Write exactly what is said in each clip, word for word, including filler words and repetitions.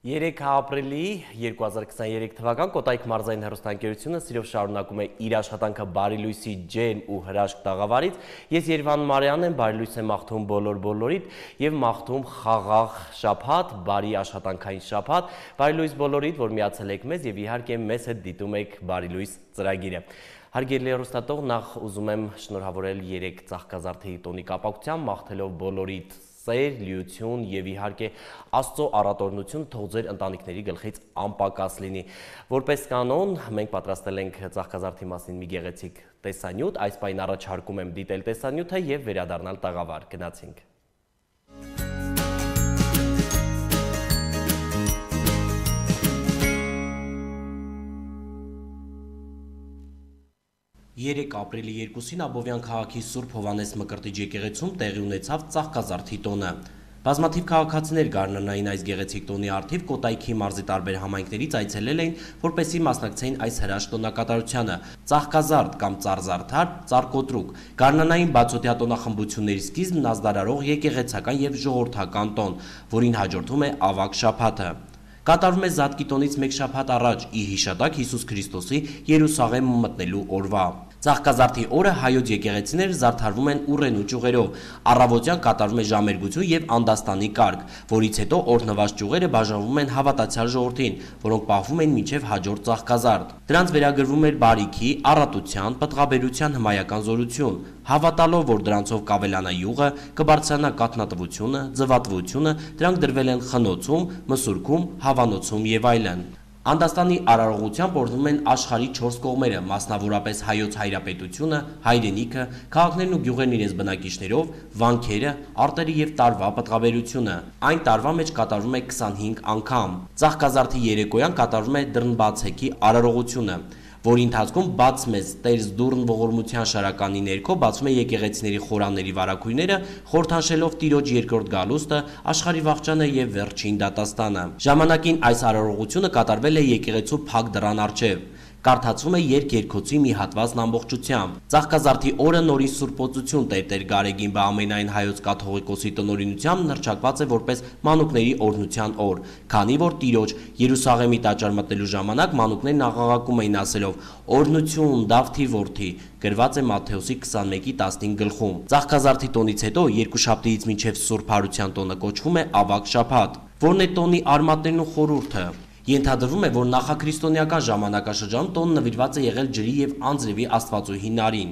երեք ապրիլի երկու հազար քսաներեք թվական Կոտայք մարզային հեռուստաընկերությունը սիրով շարունակում է իր աշխատանքը Բարի լույսի ջերմ ու հրաշք տաղավարից։ Ես Երևան Մարյանն եմ, Բարի լույս եմ մաղթում բոլոր բոլորիդ եւ մաղթում խաղաղ շաբաթ, բարի աշխատանքային շաբաթ, Բարի լույս բոլորիդ, որ միացել եք մեզ եւ իհարկե մեզ հետ դիտում եք Բարի լույս ծրագիրը։ Հարգելի հեռուստատող, նախ ուզում եմ շնորհավորել երեք Ծաղկազարդի տոնի կապակցությամբ, մաղթելով բոլորիդ սեր, լիություն եւ իհարկե Աստծո առատորնություն թող ձեր ընտանիքների գլխից անպակաս լինի։ Որպես կանոն, մենք պատրաստել ենք Ծաղկազարդի մասին մի գեղեցիկ տեսանյութ, այս պայն առաջարկում եմ դիտել տեսանյութը եւ վերադառնալ տաղավար։ Գնացինք։ երեք ապրիլի երկուսին Աբովյան քաղաքի Սուրբ Հովհաննես Մկրտիչ եկեղեցում տեղի ունեցավ Ծաղկազարդի տոնը։ Բազմաթիվ քաղաքացիներ գարնանային այս գեղեցիկ տոնի առթիվ Կոտայքի մարզի տարբեր համայնքներից այցելել էին, որպեսզի մասնակցեին այս հրաշք տոնակատարությանը։ Ծաղկազարդ կամ ծառզարդար, ծառկոտրուկ, գարնանային բացօթյա տոնախմբությունների սկիզբն ազդարարող եկեղեցական եւ ժողովրդական տոն, որին հաջորդում է ավագ շաբաթը։ Կատարվում է Զատկի տոնից մեկ շաբաթ առաջ ի հիշատակ Հիսուս Քրիստոսի Երուսաղեմ մտնելու օրվա։ Ծաղկազարդի օրը հայոց եկեղեցիները զարդարվում են ուռենու ճյուղերով, առավոտյան կատարվում է ժամերգություն եւ անդաստանի կարգ, որից հետո օրհնված ճյուղերը բաժանվում են հավատացյալ ժողովրդին, որոնք պահվում են մինչեւ հաջորդ Ծաղկազարդ։ Դրանց վերագրվում էր բարիքի, առատության, պտղաբերության հմայական զորություն, հավատալով, որ դրանցով կավելանա յուղը, կբարձրանա կաթնատվությունը, ձվատվությունը, դրանք դրվել են խնոցում, մսուրքում, հավանոցում եւ այլն։ Անդաստանի արարողությամբ օրհնում են աշխարհի չորս կողմերը, մասնավորապես հայոց հայրապետությունը, հայրենիքը, քաղաքներն ու գյուղերն իրենց բնակիչներով, վանքերը, արտերի եւ տարվա պտղաբերությունը։ Այն տարվա մեջ կատարվում է քսանհինգ անգամ։ Ծաղկազարդի երեկոյան կատարվում է դռնբացեքի արարողությունը, որի ընթացքում բաց մեզ Տեր Զդուրն ողորմության շարականի ներքո բացվում է եկեղեցիների խորանների վարակույրները, խորհրդանշելով Տիրոջ երկրորդ գալուստը, աշխարհի վախճանը եւ վերջին դատաստանը։ Ժամանակին այս արարողությունը կատարվել է եկեղեցու փակ դռան առջև։ Կարդացվում է երգերգոցի մի հատվածն ամբողջությամբ։ Ծաղկազարդի օրը նորին սուրբոցություն Տեր-Տեր Գարեգին բամենայն հայոց կաթողիկոսի տնօրինությամբ նրճակված է որպես մանուկների օրհնության օր, քանի որ Տիրոջ Երուսաղեմի տաճար մտնելու ժամանակ մանուկներն աղաղակում էին ասելով «Օրհնություն Դավթի որդի», գրված է Մատթեոսի քսանմեկի տասնհինգ գլխում։ Ծաղկազարդի տոնից հետո երկուշաբթիից մինչև Սուրբ Հարության տոնը կոչվում է ավագ շաբաթ, որն է տոնի արմատներն ու խորհուրդը։ Ենթադրվում է, որ նախաքրիստոնեական ժամանակաշրջանում տոնը նվիրված է եղել ջրի եւ անձրևի աստվածուհի Նարին։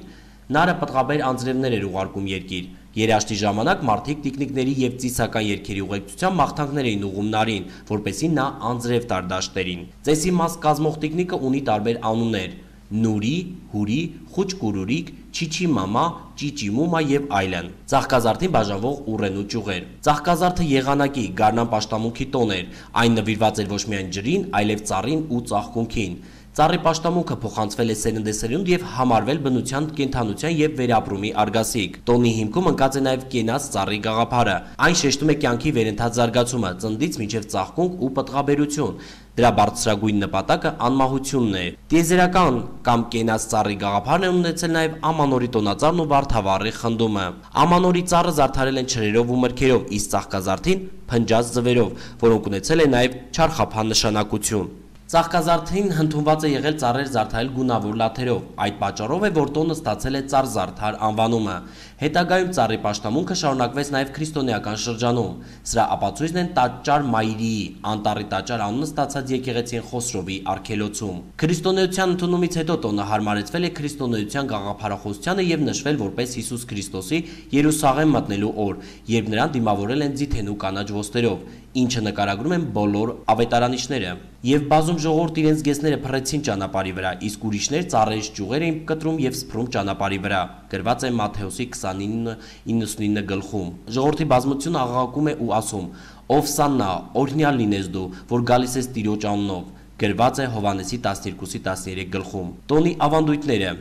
Նարը պտղաբեր անձրևներ էր ուղարկում երկիր։ Երաշտի ժամանակ մարդիկ տիկնիկների եւ ծիսական երգերի ուղեկցությամբ մաղթանքներ էին ուղում Նարին, որպեսզի նա անձրև տար դաշտերին։ Ծեսի մաս կազմող տիկնիկը ունի տարբեր անուններ՝ Նուրի, Հուրի, Խուճկուրուրիկ, Չիչի մամա, Ճիճի մումա եւ այլն։ Ծաղկազարդին բաժանվող ուռենու ճյուղեր։ Ծաղկազարդը եղանակի, գարնան պաշտամունքի տոն էր, այն նվիրված էր ոչ միայն ջրին, այլև ծառին ու ծաղկունքին։ Ծառի պաշտամունքը փոխանցվել է սերնդեսերունդ եւ համարվել բնության, կենդանության եւ վերապրումի արգասիկ։ Տոնի հիմքում ընկած է նաեւ կենաց ծառի գաղափարը։ Այն շեշտում է կյանքի վերընթաց զարգացումը, ծննդից մինչեւ ծաղկունք ու պտղաբերություն։ Դրա բարձրագույն նպատակը անմահությունն է։ Տիեզերական կամ կենաց ծառի գաղափարն է ունեցել նաեւ Ամանորի տոնածառն ու Վարդավառի խնդումը։ Ամանորի ծառը զարդարել են չրերով ու մրգերով, իսկ Ծաղկազարդին փնջած ձվերով, որոնք ունեցել են նաեւ չարխափան նշանակություն։ Ծաղկազարդին հնդունված է եղել ծառեր զարդարել գունավոր լաթերով, այդ պատճառով է, որ տոնը ստացել է ծառզարդար անվանումը։ Հետագայում ծառի պաշտամունքը շարունակվեց նաև քրիստոնեական շրջանում։ Սրա ապացույցն են տաճար Մայրիի, անտառի տաճար անունը ստացած եկեղեցին Խոսրովի արգելոցում։ Քրիստոնեության ընդունումից հետո տոնը հարմարեցվել է քրիստոնեության գաղափարախոսությանը եւ նշվել որպես Հիսուս Քրիստոսի Երուսաղեմ մտնելու օր, երբ նրան դիմավորել են ձիթենու կանաչ ոսկերով, ինչը նկարագրում են բոլոր ավետարանիչները։ Եւ բազում ժողովուրդ իրենց գեսները փռեցին ճանապարհի վրա, իսկ ուրիշներ ծառերից ճյուղեր էին կտրում եւ սփռում ճանապարհի վրա, գրված է Մատթեոսի քսանինը իննսունինը գլխում։ Ժողովրդի բազմությունը աղաղակում է ու ասում. «Ովսաննա, օրհնյալ լինես դու, որ գալիս ես Տիրոջ անունով», գրված է Հովհաննեսի տասներկուսի տասներեք գլխում։ Տոնի ավանդույթները։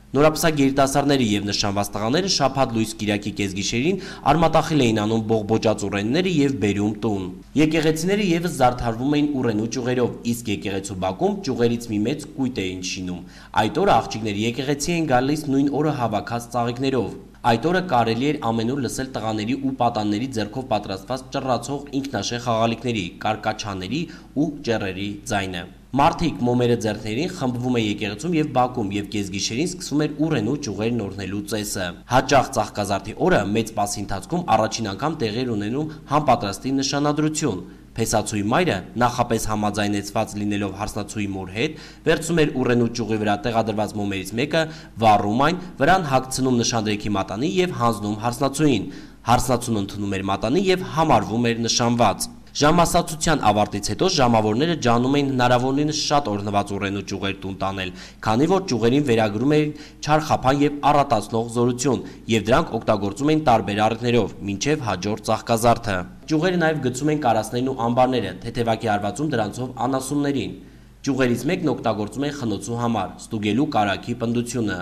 Նորապսակ երիտասարդները եւ նշանված տղաները շաբաթ լույս կիրակի կեսգիշերին արմատախիլ էին անում բողբոջած ուռենիները եւ բերում տուն։ Եկեղեցիները եւս զարդարվում էին ուռենու ճյուղերով, իսկ եկեղեցու բակում ճյուղերից մի մեծ կույտ էին շինում։ Այդ օրը աղջիկները եկեղեցի էին գալիս նույն օրը հավաքած ծաղիկներով։ Այդ օրը կարելի էր ամենուր լսել տղաների ու պատանների ձեռքով պատրաստված ճռռացող ինքնաշեղ խաղալիքների, կարկաչաների ու ճեռերի ձայնը։ Մարդիկ մոմերը ձեռքներին խմբվում է եկեղեցում եւ բակում եւ կեսգիշերին սկսվում էր ուռենու ճյուղերն օրհնելու ծեսը։ Հաճախ Ծաղկազարդի օրը մեծ պասի ընթացքում առաջին անգամ տեղի էր ունենում համապատրաստի նշանադրություն։ Փեսացուի մայրը, նախապես համաձայնեցված լինելով հարսնացուի մոր հետ, վերցում էր ուռենու ճյուղի վրա տեղադրված մոմերից մեկը, վառում այն, վրան հագցնում նշանդրեքի մատանի եւ հանձնում հարսնացուին։ Հարսնացուն ընդունում էր մատանի եւ համարվում էր նշանված։ Ժամասացության ավարտից հետո ժամավորները ջանում էին հնարավորինս շատ օրհնված ուռենու ճյուղեր տուն տանել, քանի որ ճյուղերին վերագրում էին չարխափան եւ առատացնող զորություն, եւ դրանք օգտագործում էին տարբեր առիթներով, մինչեւ հաջորդ Ծաղկազարդը։ Ճյուղերը նաեւ գցում էին կարասներն ու ամբարները, թեթևակի արվածում դրանցով անասուններին։ Ճյուղերից մեկն օգտագործում էին խնոցու համար, ստուգելու կարագի պնդությունը։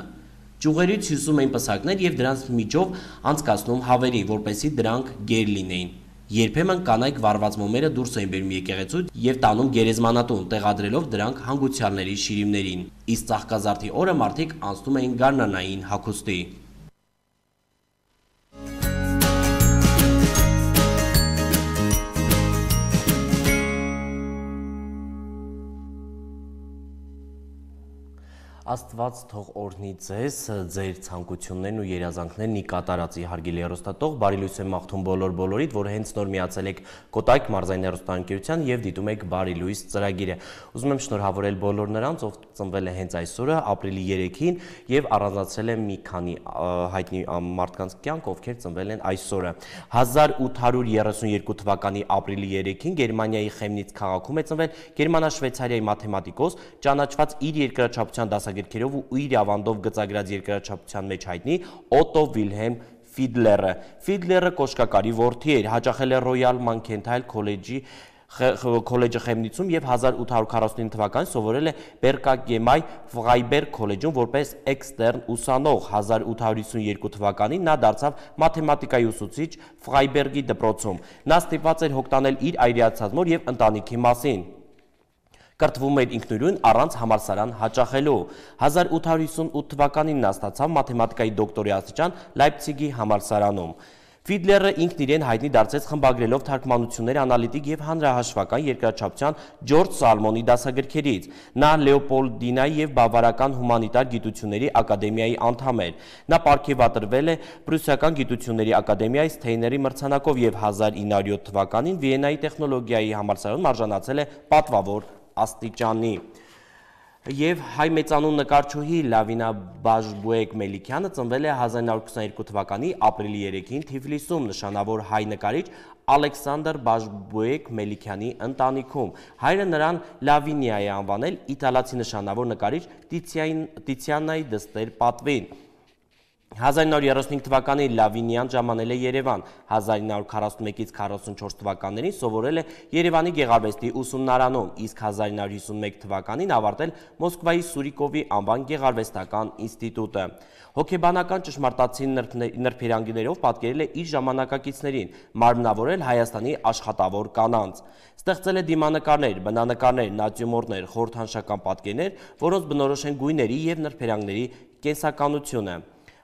Ճյուղերից հյուսում էին պսակներ եւ դրանց միջով անցկացնում հավերին, որպեսզի դրանք գեր լինեին։ Երբեմն կանայք վառված մոմերը դուրս էին բերում եկեղեցու եւ տանում գերեզմանատուն, տեղադրելով դրանք հանգուցյալների շիրիմներին։ Իսկ Ծաղկազարդի օրը մարդիկ անցնում էին գարնանային հագուստի։ Աստված թող օրհնի ձեզ, ձեր ցանկություններն ու երազանքներն ի կատարածի հարգելի հեռուստատող, բարի լույս եմ մաղթում բոլոր բոլորիդ, որ հենց նոր միացել եք Կոտայք մարզային հեռուստաընկերության եւ դիտում եք Բարի լույս ծրագիրը։ Ուզում եմ շնորհավորել բոլոր նրանց, ով ծնվել է հենց այսօրը, ապրիլի երեքին եւ առանձնացրել է մի քանի հայտնի մարդկանց կյանք, ովքեր ծնվել են այսօրը։ հազար ութ հարյուր երեսունյոթ թվականի ապրիլի երեքին Գերմանիայի Խեմնից քաղաքում է ծնվել Գերմանա-Շվեյցարիայի մաթեմատիկոս, ճանաչված իր երկրաչափության դասագրքերով ու իր ավանդով գծագրած երկրաչափության մեջ հայտնի Օտո Վիլհելմ Ֆիդլերը։ Ֆիդլերը կոշկակարի որդի էր, հաճախել է Ռոյալ Մանքենթայլ քոլեջի քոլեջը Խեմնիցում եւ հազար ութ հարյուր քառասունինը թվականին սովորել է Բերկագեմայ Ֆրայբերգ քոլեջում որպես էքստերն ուսանող։ հազար ութ հարյուր հիսունյոթ թվականին նա դարձավ մաթեմատիկայի ուսուցիչ Ֆրայբերգի դպրոցում։ Նա ստիպված էր հոգտանել իր այրացած մոր եւ ընտանիքի մասին։ Կրթվում էր ինքնուրույն առանց համալսարան հաճախելու։ հազար ութ հարյուր հիսունութ թվականին նա ստացավ մաթեմատիկայի դոկտորի աստիճան Լայպցիգի համալսարանում։ Ֆիդլերը ինքն իրեն հայտնի դարձեց խմբագրելով թարգմանություններ անալիտիկ եւ հանրահաշվական երկրաչափության Ջորջ Սալմոնի դասագրքերից։ Նա Լեոպոլդինայի եւ Բավարական հումանիտար գիտությունների ակադեմիայի անդամ էր։ Նա պարգևատրվել է Պրուսիական գիտությունների ակադեմիայի Սթեյների մրցանակով եւ հազար ինը հարյուր յոթ թվականին Վիեննայի տեխնոլոգիայի համալսարանում արժանացել է պատվավոր աստիճանի։ Եվ հայ մեծանուն նկարչուհի Լավինա Բաժբուեկ Մելիքյանը ծնվել է հազար ինը հարյուր քսաներկու թվականի ապրիլի երեքին Թիֆլիսում նշանավոր հայ նկարիչ Ալեքսանդր Բաժբուեկ Մելիքյանի ընտանիքում։ Հայրը նրան Լավինիա է անվանել իտալացի նշանավոր նկարիչ Տիցիանայի դստեր պատվին։ հազար ինը հարյուր երեսունհինգ թվականին Լավինիան ժամանել է Երևան, հազար ինը հարյուր քառասունմեկից քառասունչորս թվականներին սովորել է Երևանի գեղարվեստի ուսումնարանում, իսկ հազար ինը հարյուր հիսունմեկ թվականին ավարտել Մոսկվայի Սուրիկովի անվան գեղարվեստական ինստիտուտը։ Հոգեբանական ճշմարտացի նրբերանգներով պատկերել է իր ժամանակակիցներին, մարմնավորել Հայաստանի աշխատավոր կանանց։ Ստեղծել է դիմանկարներ, բնանկարներ, նատյուրմորտներ, խորհրդանշական պատկերներ, որոնց բնորոշ են գույների եւ նրբերանգների կենսականությունը։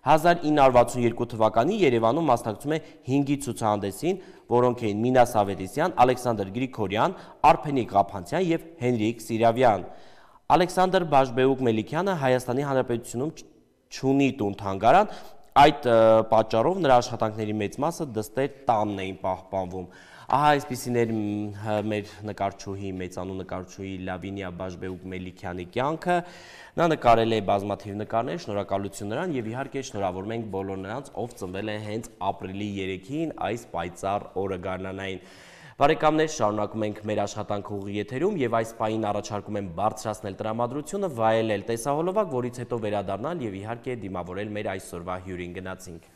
հազար ինը հարյուր վաթսունյոթ թվականին Երևանում մասնակցում է հինգի ցուցահանդեսին, որոնք էին Մինաս Ավետիսյան, Ալեքսանդր Գրիգորյան, Արփենիկ Ղափանցյան եւ Հենրիկ Սիրավյան։ Ալեքսանդր Բաժբեուկ Մելիքյանը Հայաստանի Հանրապետությունում չունի տուն-թանգարան, այդ պատճառով նրա աշխատանքների մեծ մասը դստեր տանն էին պահպանվում։ Ահա այսպիսին էր մեր նկարչուհի, մեծանուն նկարչուհի Լավինիա Բաժբեուկ Մելիքյանի կյանքը։ Նա նկարել է բազմաթիվ նկարներ, շնորհակալություն նրան եւ իհարկե շնորհավորում ենք բոլոր նրանց, ով ծնվել է հենց ապրիլի երեքին, այս պայծառ օրը գարնանային։ Բարեկամներ, շարունակում ենք մեր աշխատանքը ուղիղ եթերում եւ այս պահին առաջարկում եմ բարձրացնել տրամադրությունը, վայելել տեսահոլովակ, որից հետո վերադառնալ եւ իհարկե դիմավորել մեր այսօրվա հյուրին։ Գնացինք։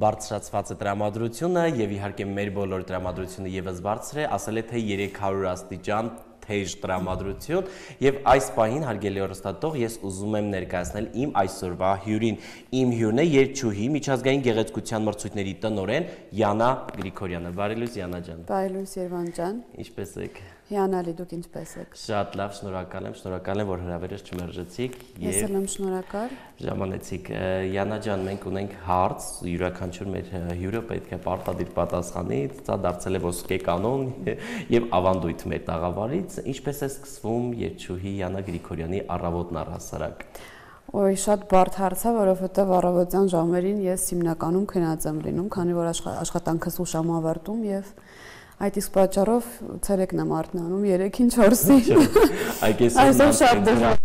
Բարձրացված է տրամադրությունը եւ իհարկե մեր բոլոր տրամադրությունը եւս բարձր է, ասել է թե երեք հարյուր աստիճան թեժ տրամադրություն եւ այս պահին հարգելի հեռուստատող ես ուզում եմ ներկայացնել իմ այսօրվա հյուրին։ Իմ հյուրն է երգչուհի, միջազգային գեղեցկության մրցույթների տնօրեն Յանա Գրիգորյանը։ Բարի լույս Յանա ջան։ Բարի լույս Երվան ջան։ Ինչպե՞ս եք։ Հիանալի, դուք ինչպես եք։ Շատ լավ, շնորհակալ եմ, շնորհակալ եմ, որ հրավերս չմերժեցիք Ես էլ եմ շնորհակալ։ Ժամանեցիք։ Յանա ջան, մենք ունենք հարց, յուրաքանչյուր մեր հյուրը պետք է պարտադիր պատասխանի, դա դարձել է ոսկե կանոն եւ ավանդույթ մեր տաղավարից, ինչպես է սկսվում երգչուհի Յանա Գրիգորյանի առավոտն առհասարակ։ Ոյ, շատ բարդ հարց է, որովհետեւ առավոտյան ժամերին ես հիմնականում քնած եմ լինում, քանի որ աշխատանքս ուշ եմ ավարտում եւ այդ իսկ պատճառով ցերեկն եմ արթնանում երեքին չորսին։ Այսօր շատ դժվար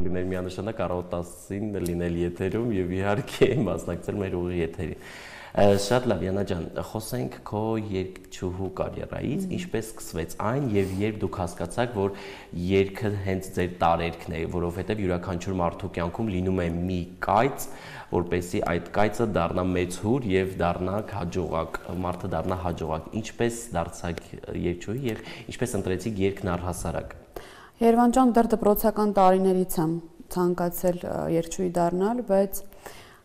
է միանշանակ առավոտ տասին լինել եթերում եւ իհարկե մասնակցել մեր ուղիղ եթերին։ Շատ լավ, Յանա ջան, խոսենք քո երգչուհու կարիերայից, ինչպես սկսվեց այն եւ երբ դուք հասկացաք, որ երգը հենց ձեր տարերքն է, որովհետեւ յուրաքանչյուր մարդու կյանքում լինում է մի կայծ, որպեսզի այդ կայծը դառնա մեծ հուր եւ դառնա հաջողակ, մարդը դառնա հաջողակ։ Ինչպես դարձաք երգչուհի եւ ինչպես ընտրեցիք երգն առհասարակ։ Երևան ջան, դեռ դպրոցական տարիներից եմ ցանկացել երգչուհի դառնալ, բայց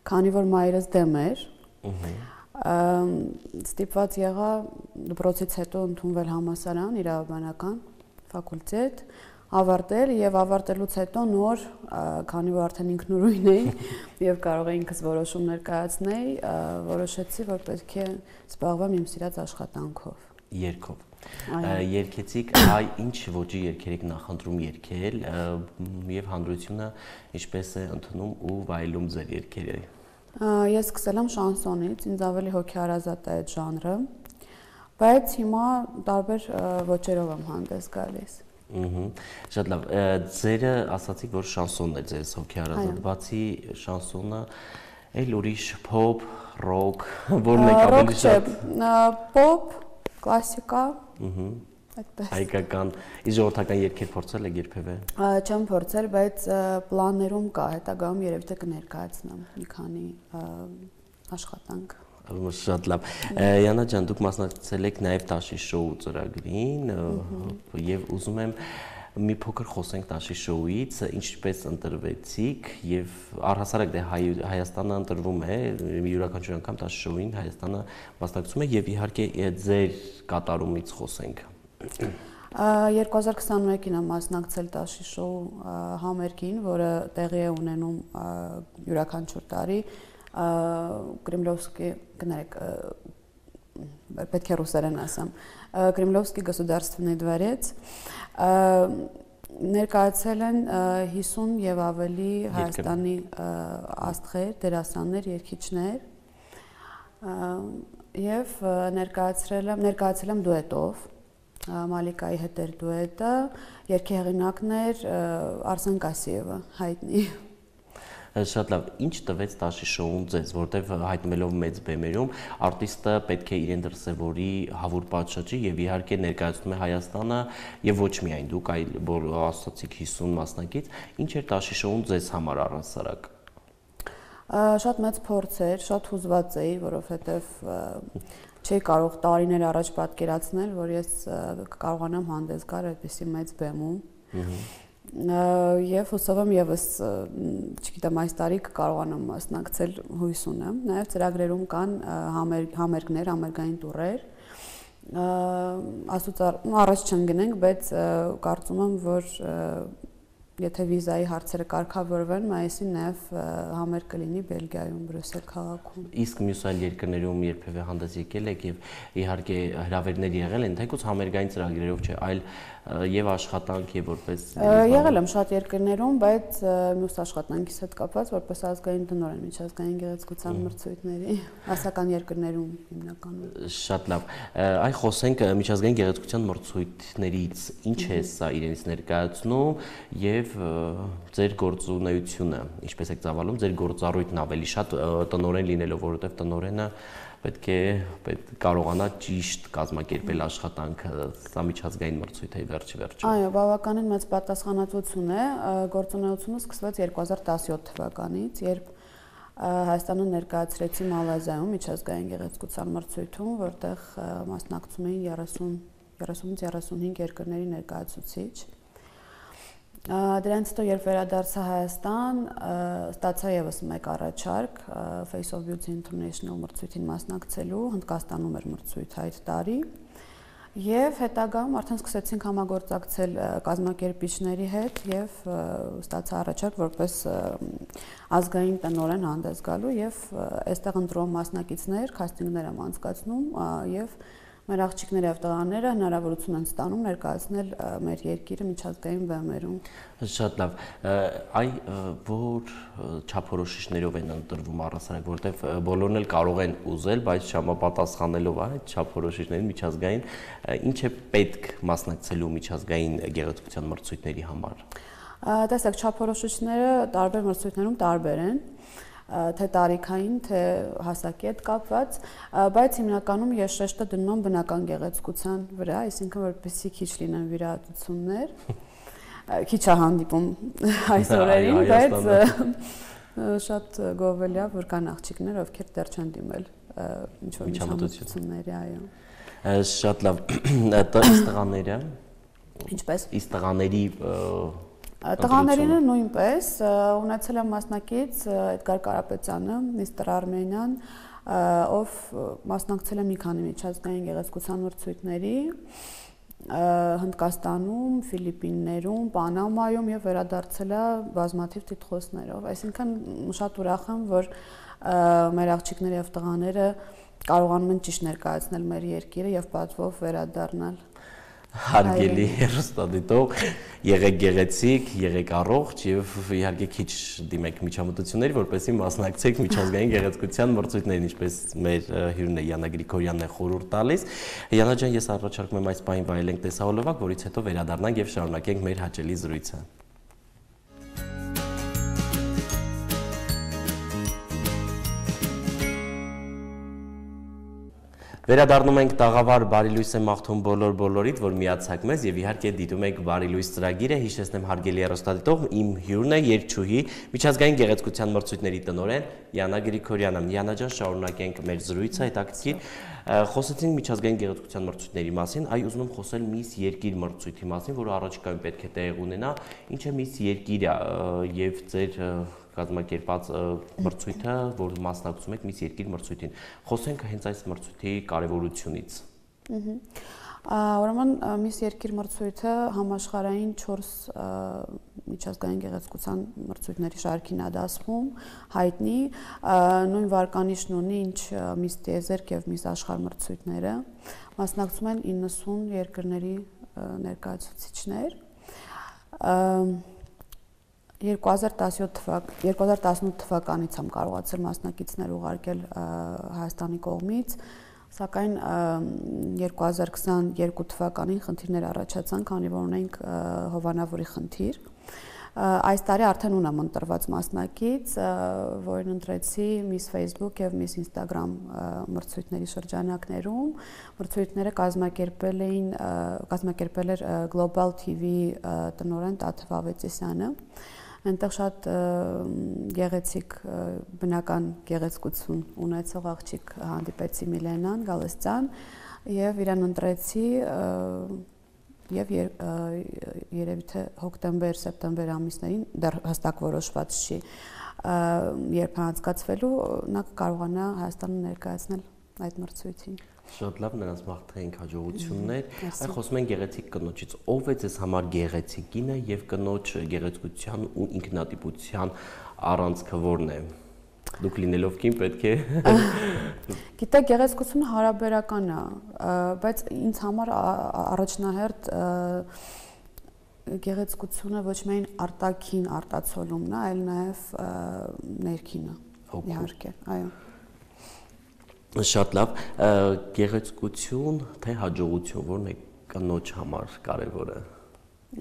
քանի որ մայրս դեմ էր, ստիպված եղա դպրոցից հետո ընդունվել համալսարան, իրավաբանական ֆակուլտետ, ավարտել եւ ավարտելուց հետո նոր, քանի որ արդեն ինքնուրույն էի եւ կարող էի ինքս որոշումներ կայացնել, որոշեցի, որ պետք է զբաղվեմ իմ սիրած աշխատանքով։ Երգով։ Երգեցիք, այ ինչ ոճի երգեր եք նախընտրում երգել եւ հանրությունը ինչպես է ընդունում ու վայելում ձեր երգերը։ Ես սկսել եմ շանսոնից, ինձ ավելի հոգեհարազատ է այդ ժանրը, բայց հիմա տարբեր ոճերով եմ հանդես գալիս։ Շատ լավ, ձերը ասացիք, որ շանսոնն է ձեզ հոգեհարազատ, բացի շանսոնը, այլ ուրիշ փոփ, ռոք, որն եք ավելի շատ։ Փոփ, կլասիկա, այդպես։ Հայկական, իսկ ժողովրդական երգեր փորձել եք երբևէ։ Չեմ փորձել, բայց պլաններում կա, հետագայում երևի թե կներկայացնեմ մի քանի աշխատանք։ Շատ լավ։ Յանա ջան, դուք մասնակցել եք նաև Տաշի շոու ծրագրին եւ ուզում եմ մի փոքր խոսենք Տաշի շոուից, ինչպես ընտրվեցիք եւ առհասարակ դե Հայաստանը ընտրվում է, յուրաքանչյուր անգամ Տաշի շոուին Հայաստանը մասնակցում է եւ իհարկե ձեր կատարումից խոսենք։ երկու հազար քսաներկին եմ մասնակցել Տաշի շոու համերգին, որը տեղի է ունենում յուրաքանչյուր տարի Կրեմլովսկի, կներեք, պետք է ռուսերեն ասեմ, Կրեմլովսկի գосударственный դվարեց, ներկայացել են հիսուն եւ ավելի Հայաստանի աստղեր, դերասաններ, երգիչներ եւ ներկայացրել եմ, ներկայացել եմ դուետով, Մալիկայի հետ էր դուետը, երգի հեղինակն էր Արսեն Կասիևը, հայտնի։ Շատ լավ, ինչ տվեց Տաշի շոուն ձեզ, որտեվ հայտնվելով մեծ բեմերում արտիստը պետք է իրեն դրսևորի հավուր պատշաճի եւ իհարկե ներկայացնում է Հայաստանը եւ ոչ միայն դուք, այլ որ ասացիք հիսուն մասնակից, ինչ էր Տաշի շոուն ձեզ համար առհասարակ։ Շատ մեծ փորձ էր, շատ հուզված էի, որովհետեւ չէի կարող տարիներ առաջ պատկերացնել, որ ես կարողանամ հանդես գալ այդպիսի մեծ բեմում։ Եվ հուսով եմ եւս, չգիտեմ, այս տարի կկարողանամ մասնակցել, հույս ունեմ։ Նաեւ ծրագրերում կան համերգներ, համերգային տուրեր։ Ասուց առաջ չընկնենք, բայց կարծում եմ, որ եթե վիզայի հարցերը կարգավորվեն, մայիսին նաև համերգ կլինի Բելգիայում, Բրյուսել քաղաքում։ Իսկ մյուս այլ երկրներում երբևէ հանդես եկել եք եւ իհարկե հրավերներ եղել են, թեկուզ համերգային ծրագրերով չէ, այլ եւ աշխատանք եւ որպես եղել եմ շատ երկրներում, բայց մյուս աշխատանքիս հետ կապված որպես ազգային տնօրեն միջազգային գեղեցկության մրցույթների ասական երկրներում հիմնականում։ Շատ լավ։ Այ խոսենք միջազգային գեղեցկության մրցույթներից, ինչ է սա իրենից ներկայացնում եւ ձեր գործունեությունը, ինչպես եք ծավալում ձեր գործառույթն ավելի շատ տնօրեն լինելով, որովհետեւ տնօրենը պետք է պետք կարողանա ճիշտ կազմակերպել աշխատանքը, սա միջազգային մրցույթ է վերջի վերջում։ Այո, բավականին մեծ պատասխանատվություն է, գործունեությունը սկսվեց երկու հազար տասնյոթ թվականից, երբ Հայաստանը ներկայացրեցի Մալազիայում միջազգային գեղեցկության մրցույթում, որտեղ մասնակցում էին երեսունից երեսունհինգ երկրների ներկայացուցիչ։ Դրանից հետո երբ վերադարձա Հայաստան, ստացա եւս մեկ առաջարկ Face of Beauty International մրցույթին մասնակցելու, Հնդկաստանում էր մրցույթը այդ տարի, Եվ հետագայում արդեն սկսեցինք համագործակցել կազմակերպիչների հետ եւ ստացա առաջարկ որպես ազգային տնօրեն հանդես գալու եւ այստեղ ընտրող մասնակիցներ քաստինգներ եմ անցկացնում եւ մեր աղջիկները եւ տղաները հնարավորություն են ստանում ներկայացնել մեր երկիրը միջազգային բեմերում։ Շատ լավ։ Այ որ չափորոշիչներով են ընտրվում առհասարակ, որտեվ բոլորն էլ կարող են ուզել, բայց չհամապատասխանելով այդ չափորոշիչներին միջազգային, ինչ է պետք մասնակցելու միջազգային գեղեցկության մրցույթների համար։ Տեսեք, չափորոշիչները տարբեր մրցույթներում տարբեր են, թե տարիքային, թե հասակի հետ կապված, բայց հիմնականում ես շեշտը դնում եմ բնական գեղեցկության վրա, այսինքն որպեսզի քիչ լինեն վիրահատություններ, քիչ է հանդիպում այս օրերին, բայց շատ գովելի է, որ կան աղջիկներ, ովքեր դեռ չեն դիմել ինչ-որ միջամտությունների, այո։ Շատ լավ, իսկ տղաները։ Ինչպես։ Իսկ տղաների Տղաներինը նույնպես ունեցել եմ մասնակից Էդգար Կարապետյանը, միստր Արմենիան, ով մասնակցել է մի քանի միջազգային գեղեցկության մրցույթների Հնդկաստանում, Ֆիլիպիններում, Պանամայում եւ վերադարձել է բազմաթիվ տիտղոսներով։ Այսինքն շատ ուրախ եմ, որ մեր աղջիկները եւ տղաները կարողանում են ճիշտ ներկայացնել մեր երկիրը եւ պատվով վերադառնալ։ Հարգելի հեռուստադիտող, եղեք գեղեցիկ, եղեք առողջ եւ իհարկե քիչ դիմեք միջամտությունների, որպեսզի մասնակցեք միջազգային գեղեցկության մրցույթներին, ինչպես մեր հյուրն է Յանա Գրիգորյանն է խորհուրդ տալիս։ Յանա ջան, ես առաջարկում եմ այս պահին վայելենք տեսահոլովակ, որից հետո վերադառնանք եւ շարունակենք մեր հաճելի զրույցը։ Վերադառնում ենք տաղավար Բարի լույս եմ մաղթում բոլոր բոլորիդ, որ միացաք մեզ եւ իհարկե դիտում եք Բարի լույս ծրագիրը, հիշեցնեմ հարգելի հեռուստադիտող, իմ հյուրն է երգչուհի, միջազգային գեղեցկության մրցույթների տնօրեն Յանա Գրիգորյանը։ Յանա ջան, շարունակենք մեր զրույցը, հետաքրքիր։ Խոսեցինք միջազգային գեղեցկության մրցույթների մասին, այ ուզում եմ խոսել Միս Երկիր մրցույթի մասին, որը առաջիկայում պետք է տեղի ունենա։ Ինչ է Միս Երկիրը եւ ձեր կազմակերպած մրցույթը, որ մասնակցում եք Միս Երկիր մրցույթին։ Խոսենք հենց այս մրցույթի կարևորությունից։ Ուրեմն Միս Երկիր մրցույթը համաշխարհային չորս միջազգային գեղեցկության մրցույթների շարքին է դասվում, հայտնի, նույն վարկանիշն ունի, ինչ Միս Տիեզերք եւ Միս Աշխարհ մրցույթները, մասնակցում են իննսուն երկրների ներկայացուցիչներ։ երկու հազար տասնութ թվականից եմ կարողացել մասնակիցներ ուղարկել Հայաստանի կողմից, սակայն երկու հազար քսաներկու թվականին խնդիրներ առաջացան, քանի որ ունենք հովանավորի խնդիր։ Այս տարի արդեն ունեմ ընտրված մասնակից, որին ընտրեցի Miss Facebook եւ Miss Instagram մրցույթների շրջանակներում։ Մրցույթները կազմակերպել էին կազմակերպել էր Global T V տնօրեն Տաթև Ավետիսյանը։ Այնտեղ շատ գեղեցիկ բնական գեղեցկություն ունեցող աղջիկ հանդիպեցի Միլենան Գալստյան եւ իրան ընտրեցի եւ երևի թե հոկտեմբեր-սեպտեմբեր ամիսներին դեռ հստակ որոշված չի երբ անցկացվելու նա կարողանա Հայաստանը ներկայացնել այդ մրցույթին։ Շատ լավ, նրանց մաղթենք հաջողություններ։ Այ խոսում ենք գեղեցիկ կնոջից, ով է ձեզ համար գեղեցիկ կինը եւ կնոջ գեղեցկության ու ինքնատիպության առանցքը որն է։ Դուք լինելով կին պետք է։ Գիտեք, գեղեցկությունը հարաբերական է, բայց ինձ համար առաջնահերթ գեղեցկությունը ոչ միայն արտաքին արտացոլումն է, այլ նաեւ ներքինը։ Իհարկե, այո։ Շատ լավ, գեղեցկություն թե հաջողություն, որն է կնոջ համար կարևորը։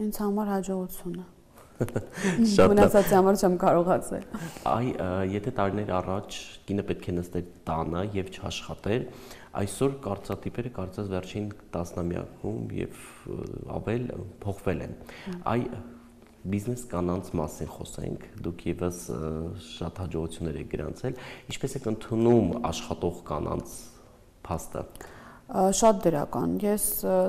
Ինձ համար հաջողությունը։ Շատ լավ։ Մնացածի համար չեմ կարողացել։ Այ եթե տարիներ առաջ կինը պետք է նստեր տանը եւ չաշխատեր, այսօր կարծրատիպերը կարծես վերջին տասնամյակում եւ ավել փոխվել են։ Այ բիզնես կանանց մասին խոսենք, դուք եւս շատ հաջողություններ եք գրանցել, ինչպես եք ընդունում աշխատող կանանց փաստը։ Շատ դրական, ես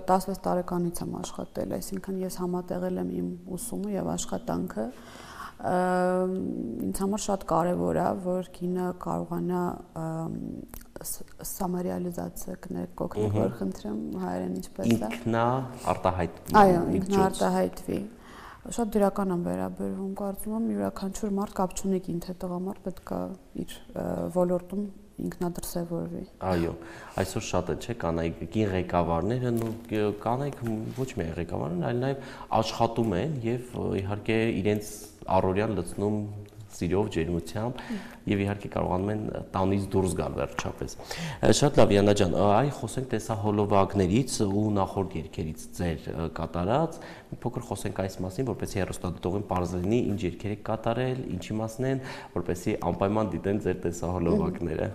տասվեց տարեկանից եմ աշխատել, այսինքն ես համատեղել եմ իմ ուսումը եւ աշխատանքը, ինձ համար շատ կարեւոր է, որ կինը կարողանա Սամարիալիզացիա կներկոքնեք, որ խնդրեմ հայերեն ինչպես է։ Ինքնա արտահայտվի։ Այո, ինքնա արտահայտվի։ Շատ դրական եմ վերաբերվում, կարծում եմ յուրաքանչյուր մարդ կապ չունի կին թե տղամարդ պետք է իր ոլորտում ինքնադրսևորվի։ Այո, այսօր շատ է, չէ՞, կանայք կին ղեկավարները, կանայք ոչ միայն ղեկավարներ, այլ նաև աշխատում են եւ իհարկե իրենց առօրյան լցնում սիրով, ջերմությամբ եւ իհարկե կարողանում են տանից դուրս գալ վերջապես։ Շատ լավ, Յանա ջան, այ խոսենք տեսահոլովակներից ու նախորդ երգերից ձեր կատարած, մի փոքր խոսենք այս մասին, որպեսզի հեռուստադիտողին պարզ լինի, ինչ երգեր եք կատարել, ինչի մասն են, որպեսզի անպայման դիտեն ձեր տեսահոլովակները։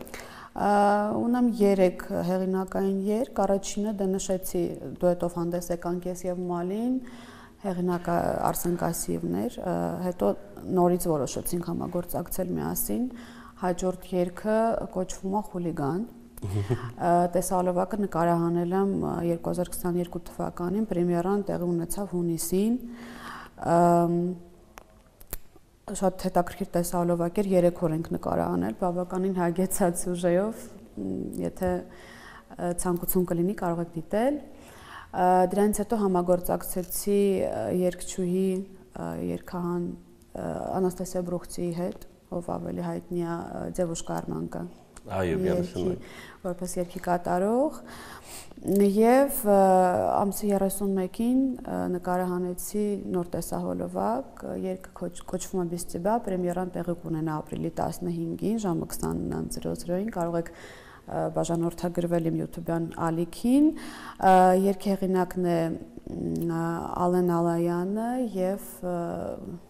Ունեմ երեք հեղինակային երգ, առաջինը դե նշեցի դուետով հանդես եկանք ես եւ Մալին, հեղինակը Արսեն Կասիևն էր, հետո նորից որոշեցինք համագործակցել միասին, հաջորդ երգը կոչվում է Խուլիգան, տեսահոլովակը նկարահանել եմ երկու հազար քսաներկու թվականին, պրեմիերան տեղի ունեցավ հունիսին, շատ հետաքրքիր տեսահոլովակ էր, երեք օր ենք նկարահանել, բավականին հագեցած սյուժեով, եթե ցանկություն կլինի կարող եք դիտել։ Դրանից հետո համագործակցեցի երգչուհի երգահան Անաստասիա Բրուխցիի հետ, ով ավելի հայտնի է Ձևուշկա Արմանկա։ Այո, միանշանակ։ Որպես երգի կատարող եւ ամսի երեսունմեկին նկարահանեցի նոր տեսահոլովակ, երգը կոչվում է Բիստիբա, պրեմիերան տեղի կունենա ապրիլի տասնհինգին ժամը քսանինը զրո զրոին, կարող եք բաժանորդագրվել իմ YouTube-յան ալիքին, երգի հեղինակն է Ալեն Ալայանը եւ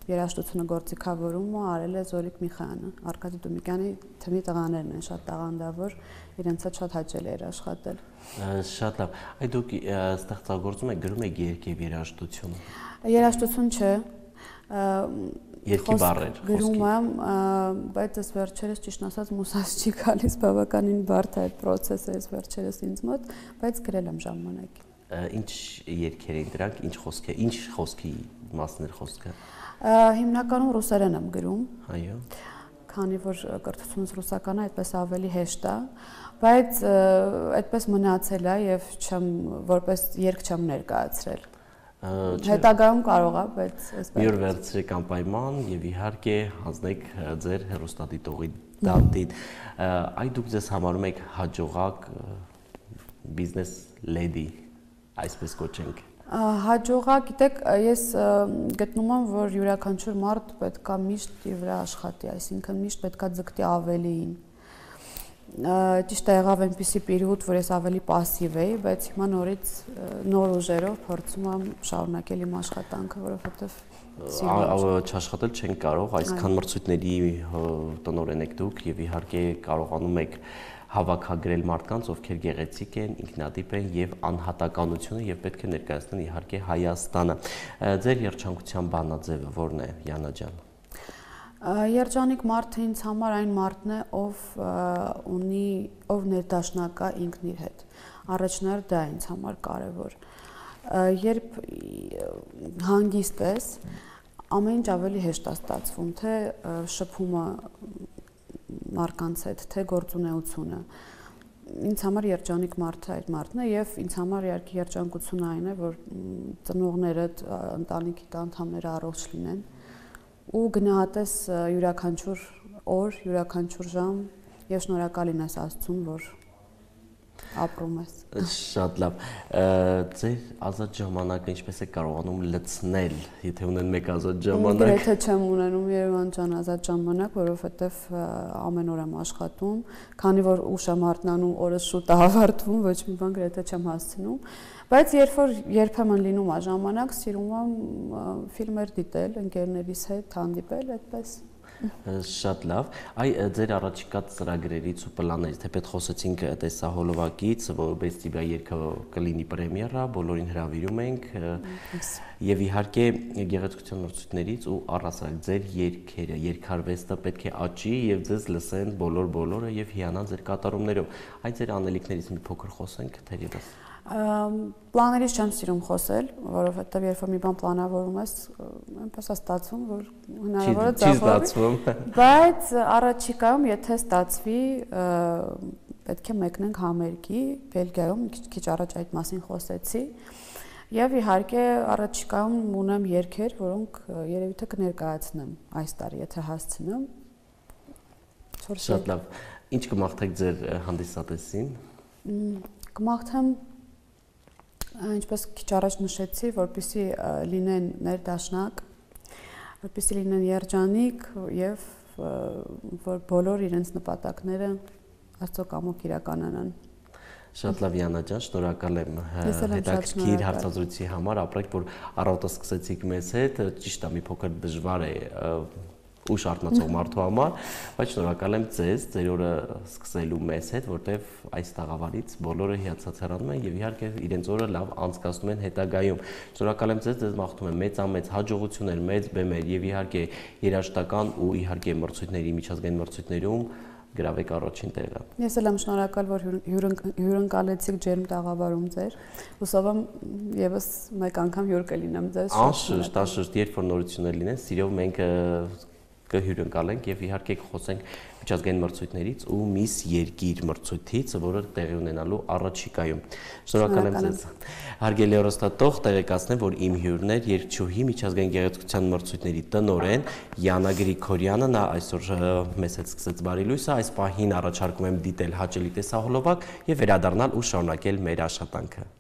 երաժշտությունը գործիքավորումը արել է Զորիկ Միխայանը, Արկադի Դումիկյանի թմի տղաներն են, շատ տաղանդավոր, իրենց հետ շատ հաճելի էր աշխատել։ Շատ լավ։ Այ դուք ստեղծագործում եք, գրում եք երգ եւ երաժշտություն։ Երաժշտություն չէ։ Երկի բառեր գրում եմ, բայց ես վերջերս ճիշտ ասած մուսած չի գալիս, բավականին բարդ է այդ process-ը ես վերջերս ինձ մոտ, բայց գրել եմ ժամանակին։ Ինչ երգեր են դրանք, ինչ խոսք է, ինչ խոսքի մասն է խոսքը։ Հիմնականում ռուսերեն եմ գրում։ Այո։ Քանի որ կրթությունս ռուսական է, այդպես ավելի հեշտ է, բայց այդպես մնացել է եւ չեմ որպես երգ չեմ ներկայացրել։ Հետագայում կարող է, բայց այսպես։ Մի օր վերցրեք անպայման եւ իհարկե հանձնեք ձեր հեռուստադիտողի դատին։ Այ դուք ձեզ համարում եք հաջողակ բիզնես լեդի, այսպես կոչենք։ Հաջողակ, գիտեք, ես գտնում եմ, որ յուրաքանչյուր մարդ պետքա միշտ իր վրա աշխատի, այսինքն միշտ պետքա ձգտի ավելիին։ Ճիշտ է եղավ այնպիսի պերիոդ, որ ես ավելի пассив էի, բայց հիմա նորից նոր ուժերով փորձում եմ շարունակել իմ աշխատանքը, որովհետև չաշխատել չենք կարող, այսքան մրցույթների տնօրեն եք դուք եւ իհարկե կարողանում եք հավաքագրել մարդկանց, ովքեր գեղեցիկ են, ինքնատիպ են եւ անհատականությունը եւ պետք է ներկայացնեն իհարկե Հայաստանը։ Ձեր երջանկության բանաձևը ո՞րն է, Յանա ջան։ Երջանիկ մարդը ինձ համար այն մարդն է, ով ունի, ով ներդաշնակ է ինքն իր հետ։ Առաջնար դա ինձ համար կարևոր։ Երբ հանգիստ ես, ամեն ինչ ավելի հեշտ է ստացվում, թե շփումը մարդկանց հետ, թե գործունեությունը։ Ինձ համար երջանիկ մարդը այդ մարդն է եւ ինձ համար իհարկե երջանկությունը այն է, որ ծնողներդ, ընտանիքի անդամները առողջ լինեն ու գնահատես յուրաքանչյուր օր, յուրաքանչյուր ժամ եւ շնորհակալ լինես Աստծուն, որ ապրում ես։ Շատ լավ։ Ձեր ազատ ժամանակը ինչպես է կարողանում լցնել, եթե ունեն մեկ ազատ ժամանակ։ Գրեթե չեմ ունենում Երևան ջան ազատ ժամանակ, որովհետեւ ամեն օր եմ աշխատում, քանի որ ուշ եմ արթնանում, օրս շուտ է ավարտվում, ոչ մի բան գրեթե չեմ հասցնում, բայց երբ որ երբեմն լինում է ժամանակ, սիրում եմ ֆիլմեր դիտել, ընկերներիս հետ հանդիպել, այդպես։ Շատ լավ։ Այ ձեր առաջիկա ծրագրերից ու պլաններից, թեպետ խոսեցինք տեսահոլովակից, Բեստիբա երգը կլինի պրեմիերա, բոլորին հրավիրում ենք եւ իհարկե գեղեցկության մրցույթներից ու առասարակ ձեր երգերը, երգարվեստը պետք է աճի եւ ձեզ լսեն բոլոր բոլորը եւ հիանան ձեր կատարումներով։ Այ ձեր անելիքներից մի փոքր խոսենք, թերևս։ Պլաներից չեմ սիրում խոսել, որովհետև երբ որ մի բան պլանավորում ես, այնպես է ստացվում, որ հնարավոր է ձախողվի, բայց առաջիկայում եթե ստացվի, պետք է մեկնենք համերգի, Բելգիայում քիչ առաջ այդ մասին խոսեցի։ Եվ իհարկե առաջիկայում ունեմ երգեր, որոնք երևի թե կներկայացնեմ այս տարի, եթե հասցնեմ։ Շատ լավ։ Ինչ կմաղթեք ձեր հանդիսատեսին։ Կմաղթեմ, ինչպես քիչ առաջ նշեցի, որպեսզի լինեն ներդաշնակ, որպեսզի լինեն երջանիկ եւ որ բոլոր իրենց նպատակները Աստծո կամոք իրականանան։ Շատ լավ Յանա ջան, շնորհակալ եմ հետաքրքիր հարցազրույցի համար, ապրեք, որ առավոտը սկսեցիք մեզ հետ, ճիշտ է, մի փոքր դժվար է ուշ արթնացող մարդու համար, բայց շնորհակալ եմ ձեզ, ձեր օրը սկսելու մեզ հետ, որտեվ այս տաղավարից բոլորը հիացած հեռանում են եւ իհարկե իրենց օրը լավ անցկացնում են հետագայում։ Շնորհակալ եմ ձեզ, ձեզ մաղթում եմ մեծամեծ հաջողություններ, մեծ բեմեր եւ իհարկե երաժշտական ու իհարկե մրցույթների, միջազգային մրցույթներում գրավեք առաջին տեղը։ Ես էլ եմ շնորհակալ, որ հյուրընկալեցիք ջերմ տաղավարում ձեր։ Հուսով եմ եւս մեկ անգամ հյուր կլինեմ ձեզ։ Անշուշտ, անշուշտ, երբ որ նորություններ լինեն, սիրով մենք կհյուրընկալենք եւ իհարկե կխոսենք միջազգային մրցույթներից ու Միս Երկիր մրցույթից, որը տեղի ունենալու առաջիկայում։ Շնորհակալ եմ ձեզ։ Հարգելի հեռուստատող, տեղեկացնեմ, որ իմ հյուրն էր երգչուհի միջազգային գեղեցկության մրցույթների տնօրեն Յանա Գրիգորյանը, նա այսօր մեզ հետ սկսեց բարի լույսը, այս պահին առաջարկում եմ դիտել հաճելի տեսահոլովակ եւ վերադառնալ ու շարունակել մեր աշխատանքը։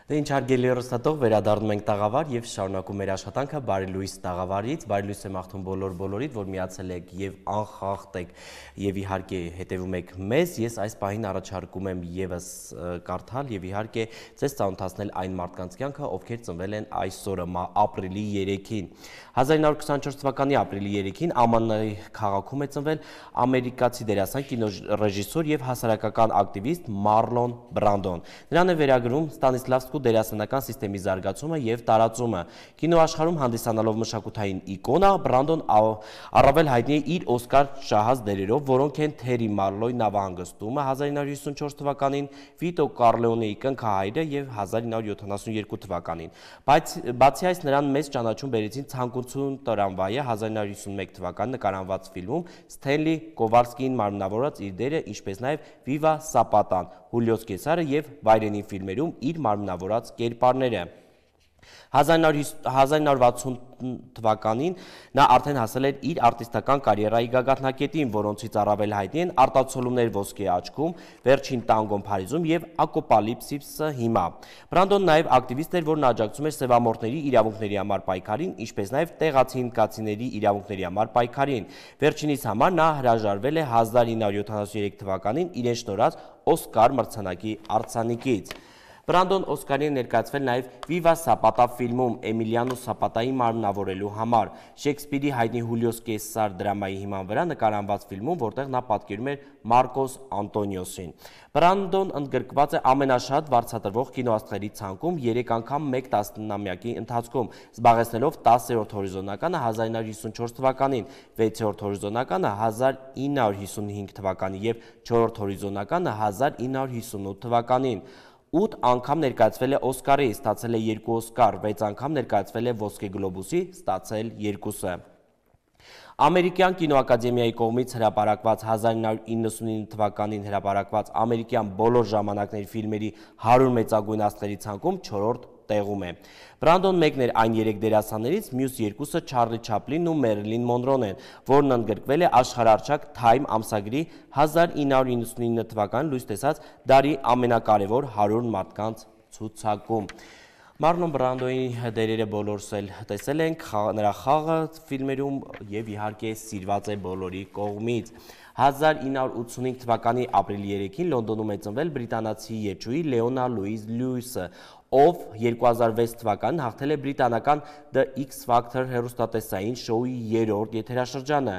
Դե ինչ հարգելի հեռուստատող, վերադառնում ենք տաղավար եւ շարունակում մեր աշխատանքը բարի լույս տաղավարից, բարի լույս եմ աղթում բոլոր բոլորիդ, որ միացել եք եւ անխախտ եք եւ իհարկե հետեւում եք մեզ։ Ես այս պահին առաջարկում եմ եւս կարդալ եւ իհարկե ձեզ ծանոթացնել այն մարդկանց կյանքը, ովքեր ծնվել են այսօրը, ապրիլի երեքին։ հազար իննսուն ութ թվականի ապրիլի երեքին Ամաննայի քաղաքում է ծնվել ամերիկացի դերասան, կինոռեժիսոր եւ հասարակական ակտիվիստ Մարլոն Բրանդոն։ Նրան է վերագրում Ստանիսլավսկու դերասանական սիստեմի զարգացումը եւ տարածումը։ Կինոաշխարհում հանդիսանալով մշակութային իկոնա, Բրանդոն առավել հայտնի է իր Օսկար շահած դերերով, որոնք են Թերի Մարլոյի նավահանգստումը հազար իննսուն հիսունչորս թվականին, Վիտո Կառլեոնեի կնքահայրը եւ հազար իննսուն յոթանասունյոթ թվականին։ Բայց բացի այս նրան մեծ ճանաչում բերեցին Ցանկություն տրամվայը հազար իննսուն հիսունմեկ թվականին նկարահանված ֆիլմում Սթենլի Կովալսկին մարմնավորած իր դերը, ինչպես նաեւ Վիվա Սապատան, Հուլիոս Կեսարը եւ Վայրենի ֆիլմերում իր մարմնավորած կերպարները։ հազար իննսուն վաթսուն թվականին նա արդեն հասել էր իր արտիստական կարիերայի գագաթնակետին, որոնցից առավել հայտնի են Արտացոլումներ ոսկե աչքում, Վերջին տանգոն Փարիզում եւ Ակոպալիպսիսը հիմա։ Բրանդոն նաեւ ակտիվիստ էր, որն աջակցում էր սևամորթների իրավունքների համար պայքարին, ինչպես նաեւ տեղացի հնդկացիների իրավունքների համար պայքարին։ Վերջինիս համար նա հրաժարվել է հազար իննսուն յոթանասունյոթ թվականին իրեն շնորհած Օսկար մրցանակի արձանիկից։ Բրանդոն Օսկարին է ներկայացվել նաև Վիվա Սապատա ֆիլմում Էմիլիանո Սապատայի մարմնավորելու համար, Շեքսպիրի հայտնի Հուլիոս Կեսար դրամայի հիման վրա նկարահանված ֆիլմում, որտեղ նա պատկերում էր Մարկոս Անտոնիոսին։ Բրանդոն ընդգրկված է ամենաշատ վարձատրվող կինոաստղերի ցանկում երեք անգամ մեկ տասնամյակի ընթացքում, զբաղեցնելով տասերորդ հորիզոնականը հազար իննսուն հիսունչորս թվականին, վեցերորդ հորիզոնականը հազար իննսուն հիսունհինգ թվականին եւ չորրորդ հորիզոնականը հազար իննսուն հիսունութ թվականին։ ութ անգամ ներկայացվել է Օսկարի, ստացել է երկու Օսկար, վեց անգամ ներկայացվել է Ոսկե գլոբուսի, ստացել երկուսը։ Ամերիկյան կինոակադեմիայի կողմից հրապարակված հազար իննսուն իննսունինը թվականին հրապարակված ամերիկյան բոլոր ժամանակների ֆիլմերի հարյուր մեծագույն աստղերի ցանկում չորրորդ տեղում է։ Բրանդոն մեկն էր այն երեք դերասաններից, մյուս երկուսը Չարլի Չապլինն ու Մերիլին Մոնրոն են, որն ընդգրկվել է աշխարհահռչակ Time ամսագրի հազար իննսուն իննսունինը թվականին լույս տեսած դարի ամենակարևոր հարյուր մարդկանց ցուցակում։ Մարլոն Բրանդոյի դերերը բոլորս էլ տեսել ենք, նրա խաղը ֆիլմերում եւ իհարկե սիրված է բոլորի կողմից։ հազար իննսուն ութսունհինգ թվականի ապրիլի երեքին Լոնդոնում է ծնվել բրիտանացի երգչուհի Լեոնա Լուիզ Լյուիսը, ով երկու հազար վեց թվականին հաղթել է բրիտանական The X Factor հեռուստատեսային շոուի երրորդ եթերաշրջանը։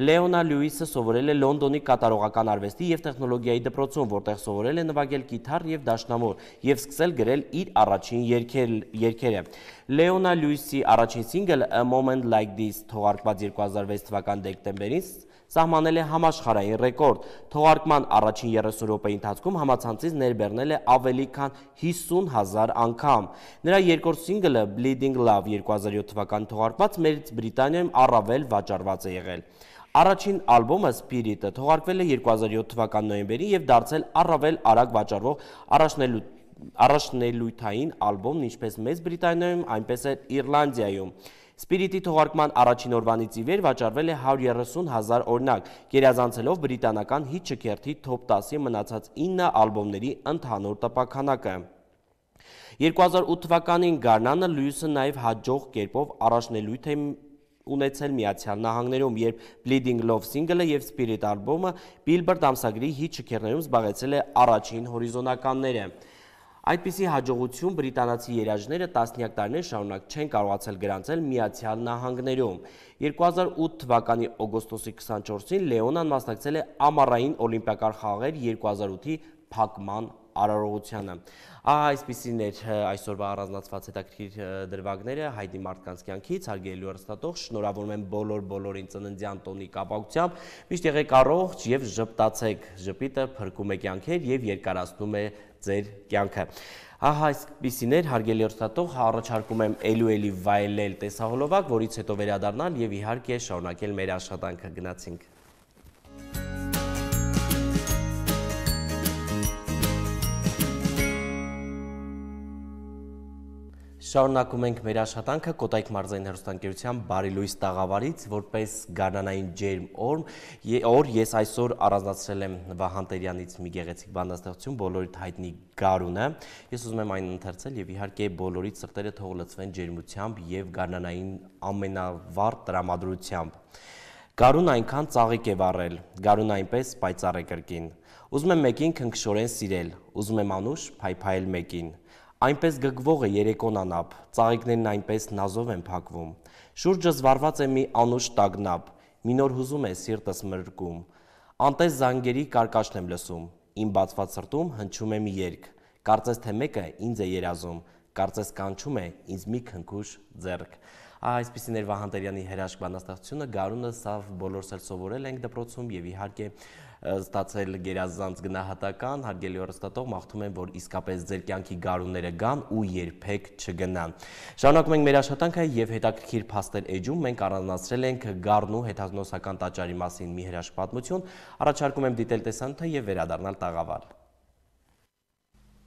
Լեոնա Լյուիսը սովորել է Լոնդոնի կատարողական արվեստի եւ տեխնոլոգիայի դպրոցում, որտեղ սովորել է նվագել կիթառ եւ դաշնամուր եւ սկսել գրել իր առաջին երգերը։ Լեոնա Լյուիսի առաջին սինգլը A Moment Like This թողարկված երկու հազար վեց թվականի դեկտեմբերին սահմանել է համաշխարհային ռեկորդ։ Թողարկման առաջին երեսուն րոպեի ընթացքում համացանցից ներբեռնել է ավելի քան հիսուն հազար անգամ։ Նրա երկրորդ սինգլը Bleeding Love երկու հազար յոթ թվականին թողարկված Մեծ Բրիտանիայում առավել վաճառված է եղել։ Առաջին ալբոմը Spirit-ը թողարկվել է երկու հազար յոթ թվականի նոյեմբերին եւ դարձել առավել արագ վաճառվող առաջնելույթային ալբոմն ինչպես Մեծ Բրիտանիայում, այնպես էլ Իռլանդիայում։ Spirit-ի թողարկման առաջին օրվանից ի վեր վաճառվել է հարյուր երեսուն հազար օրինակ, գերազանցելով բրիտանական հիթ չքերթի թոփ տասի մնացած ինը ալբոմների ընդհանուր տպաքանակը։ երկու հազար ութ թվականին Գարնանը Լյուիսը նաև հաջող կերպով առաջնելույթ է ունեցել Միացյալ Նահանգներում, երբ Bleeding Love սինգլը եւ Spirit ալբոմը Billboard ամսագրի հիթ չքերներում զբաղեցրել է առաջին հորիզոնականները։ Այդպիսի հաջողություն բրիտանացի երաժները տասնյակ տարիներ շարունակ չեն կարողացել գրանցել Միացյալ Նահանգներում։ երկու հազար ութ թվականի օգոստոսի քսանչորսին Լեոնան մասնակցել է ամառային օլիմպիական խաղեր երկու հազար ութի փակման արարողությանը։ Ահա այսպիսին էր այսօրվա առանձնացված հետաքրքիր դրվագները հայտնի մարդկանց կյանքից, հարգելի հեռուստատող, շնորհավորում եմ բոլոր բոլորին ծննդյան տոնի կապակցությամբ, միշտ եղեք առողջ եւ ժպտացեք, ժպիտը փրկում է կյանքեր եւ երկարացնում է ձեր կյանքը։ Ահա այսպիսին էր հարգելի հեռուստատող, առաջարկում եմ ելու էլի վայելել տեսահոլովակ, որից հետո վերադառնալ եւ իհարկե շարունակել մեր աշխատանքը։ Գնացինք։ Շարունակում ենք մեր աշխատանքը Կոտայք մարզային հեռուստաընկերության Բարի լույս տաղավարից, որպես գարնանային ջերմ օր ես այսօր առանձնացրել եմ Վահան Տերյանից մի գեղեցիկ բանաստեղծություն, բոլորիդ հայտնի Գարունը։ Ես ուզում եմ այն ընթերցել եւ իհարկե բոլորիդ սրտերը թող լցվեն ջերմությամբ եւ գարնանային ամենավառ տրամադրությամբ։ Գարուն այնքան ծաղիկ է վառել, Գարուն այնպես պայծառ է կրկին։ Ուզում եմ մեկին քնքշորեն սիրել, ուզում եմ անուշ փայփայել մեկին։ Այնպես գգվող է երեկոն անապ, ծաղիկներն այնպես նազով են փակվում։ Շուրջս վառված է մի անուշ տագնապ, մի նոր հուզում է սիրտս մրրկում։ Անտես զանգերի կարկաշն եմ լսում, իմ բացված սրտում հնչում է մի երգ, կարծես թե մեկը ինձ է երազում, կարծես կանչում է ինձ մի քնքուշ ձեռք։ Այսպիսին էր Վահան Տերյանի հրաշք բանաստեղծությունը, Գարունը սա բոլորս էլ սովորել ենք դպրոցում եւ իհարկե ստացել գերազանց գնահատական, հարգելի հեռուստատող, մաղթում եմ, որ իսկապես ձեր կյանքի գարունները գան ու երբեք չգնան։ Շարունակում ենք մեր աշխատանքը եւ հետաքրքիր փաստեր էջում մենք առանձնացրել ենք Գառնու հեթանոսական տաճարի մասին մի հրաշք պատմություն, առաջարկում եմ դիտել տեսանյութը եւ վերադառնալ տաղավար։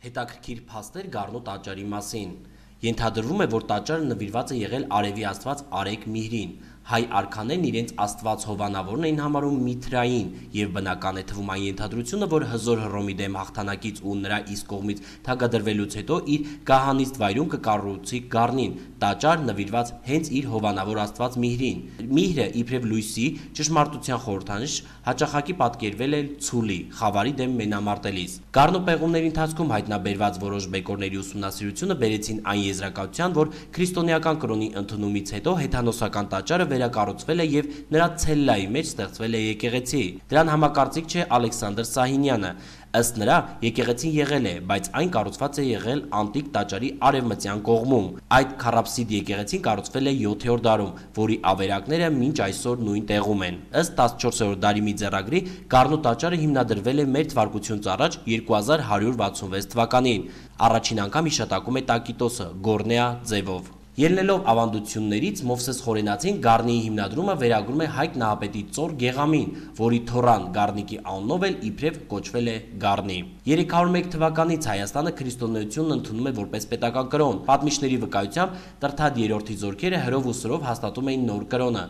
Հետաքրքիր փաստեր Գառնու տաճարի մասին։ Ենթադրվում է, որ տաճարը նվիրված է եղել արևի աստված Արեգ Միհրին։ Հայ արքաներն իրենց աստված հովանավորն էին համարում Միթրային եւ բնական է թվում այն ենթադրությունը, որ հզոր Հռոմի դեմ հաղթանակից ու նրա իսկ կողմից թագադրվելուց հետո իր գահանիստ վայրում կկառուցի Գառնին, տաճար նվիրված հենց իր հովանավոր աստված Միհրին։ Միհրը իբրև լույսի ճշմարտության խորհրդանիշ հաճախակի պատկերվել է ցուլի, խավարի դեմ մենամարտելիս։ Գառնու պեղումների ընթացքում հայտնաբերված որոշ բեկորների ուսումնասիրությունը բերեցին այն եզրակացության, որ քրիստոնեական կրոնի ընդունումից հետո հեթանոսական տաճարը վերակառուցվել է եւ նրա ցելլայի մեջ ստեղծվել է եկեղեցի։ Դրան համակարծիք չէ Ալեքսանդր Սահինյանը։ Ըստ նրա, եկեղեցին եղել է, բայց այն կառուցված է եղել անտիկ տաճարի արևմտյան կողմում։ Այդ քառափսիդ եկեղեցին կառուցվել է յոթերորդ դարում, որի ավերակները մինչ այսօր նույն տեղում են։ Ըստ տասնչորսերորդ դարի մի ձեռագրի, Գառնու տաճարը հիմնադրվել է մեր թվարկությունից առաջ երկու հազար հարյուր վաթսունվեց թվականին։ Առաջին անգամ հիշատակում է Տակիտոսը Գորնեա ձևով։ Ելնելով ավանդություններից Մովսես Խորենացին Գառնիի հիմնադրումը վերագրում է Հայկ Նահապետի ծոր Գեղամին, որի թոռան Գառնիկի անունով էլ իբրև կոչվել է Գառնի։ երեք հարյուր մեկ թվականից Հայաստանը քրիստոնեությունն ընդունում է որպես պետական կրոն։ Պատմիչների վկայությամբ Տրթադ երրորդի զորքերը հրով ու սրով հաստատում էին նոր կրոնը,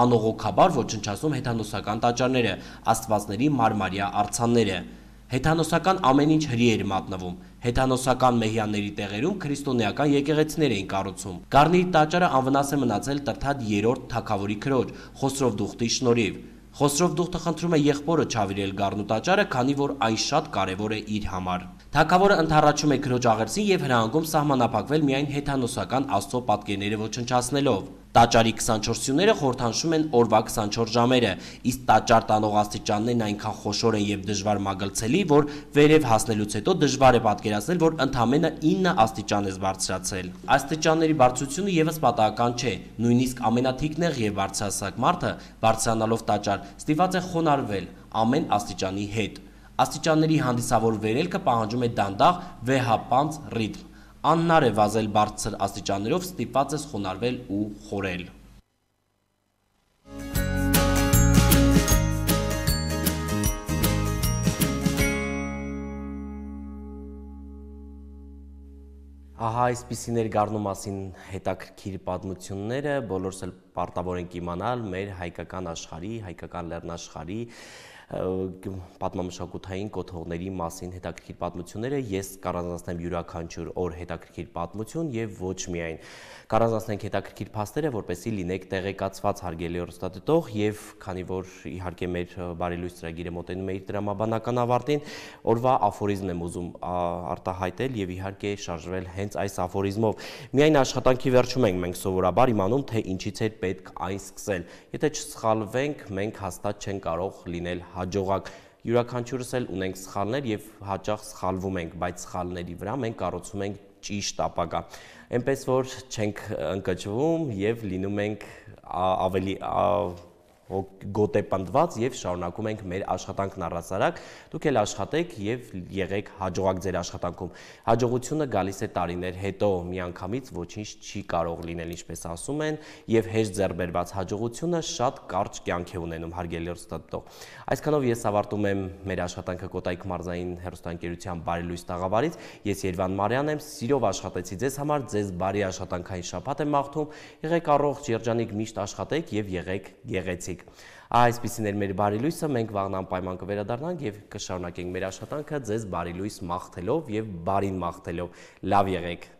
անողոքաբար ոչնչացնում հեթանոսական տաճարները, աստվածների մարմարյա արձանները։ Հեթանոսական ամեն ինչ հրի էր մատնվում։ Հեթանոսական մեհյանների տեղերում քրիստոնեական եկեղեցիներ էին կառուցում։ Գառնի տաճարը անվնաս է մնացել Տրթադ երրորդ թագավորի քրոջ Խոսրով Դուխտի շնորհիվ։ Խոսրով Դուխտը խնդրում է եղբորը չավիրել Գառնու տաճարը, քանի որ այն շատ կարևոր է իր համար։ Թագավորը ընդառաջում է քրոջ աղերսին եւ հրահանգում սահմանափակվել միայն հեթանոսական աստծո պատկերները ոչնչացնելով։ Տաճարի քսանչորս սյուները խորհրդանշում են օրվա քսանչորս ժամերը, իսկ տաճար տանող աստիճաններն այնքան խոշոր են և դժվար մագլցելի, որ վերև հասնելուց հետո դժվար է պատկերացնել, որ ընդամենը ինը աստիճան ես բարձրացել։ Աստիճանների բարձրությունը ևս պատահական չէ, նույնիսկ ամենաթիկնեղ և բարձրահասակ մարդը բարձրանալով տաճար ստիպված է խոնարհվել ամեն աստիճանի հետ։ Աստիճանների հանդիսավոր վերելքը պահանջում է դանդաղ, վեհապանծ ռիթմ։ Անհնար է վազել բարձր աստիճաններով, ստիպված ես խոնարհվել ու խորել։ Ահա այսպիսին էր Գառնու մասին հետաքրքիր պատմությունները, բոլորս էլ պարտավոր ենք իմանալ մեր հայկական աշխարհի, հայկական լեռնաշխարհի պատմամշակութային կոթողների մասին հետաքրքիր պատմությունները։ Ես կառանձնացնեմ յուրաքանչյուր օր հետաքրքիր պատմություն եւ ոչ միայն կառանձնացնենք հետաքրքիր փաստերը, որպեսզի լինեք տեղեկացված հարգելի հեռուստադիտող, եւ քանի որ իհարկե մեր բարելույս ծրագիրը մոտենում է իր դրամաբանական ավարտին, օրվա աֆորիզմն եմ ուզում արտահայտել եւ իհարկե շարժվել հենց այս աֆորիզմով։ Միայն աշխատանքի վերջում ենք մենք սովորաբար իմանում, թե ինչից է պետք այն սկսել։ Եթե չսխալվենք, մենք հաստատ չենք կարող լինել հաջողակ։ Յուրաքանչյուրս էլ ունենք սխալներ եւ հաճախ սխալվում ենք, բայց սխալների վրա մենք կառուցում ենք ճիշտ ապագա։ Էնպես որ չենք ընկճվում եւ լինում ենք ավելի գոտեպնդված եւ շարունակում ենք մեր աշխատանքն առհասարակ։ Դուք էլ աշխատեք եւ եղեք հաջողակ ձեր աշխատանքում։ Հաջողությունը գալիս է տարիներ հետո, միանգամից ոչինչ չի կարող լինել, ինչպես ասում են, եւ հեշտ ձեռբերված հաջողությունը շատ կարճ կյանք է ունենում, հարգելի հեռուստադիտող։ Այսքանով ես ավարտում եմ մեր աշխատանքը Կոտայք մարզային հեռուստաընկերության Բարելույս տաղավարից։ Ես Երվան Մարյանն եմ, սիրով աշխատեցի ձեզ համար, ձեզ բարի աշխատանքային շաբաթ եմ մաղթում։ Եղեք առողջ, երջանիկ, միշտ աշխատեք եւ եղեք գեղեցիկ։ Այսպիսին էր մեր բարի լույսը, մենք վաղն անպայման կվերադառնանք եւ կշարունակենք մեր աշխատանքը ձեզ բարի լույս մաղթելով եւ բարին մաղթելով։ Լավ եղեք։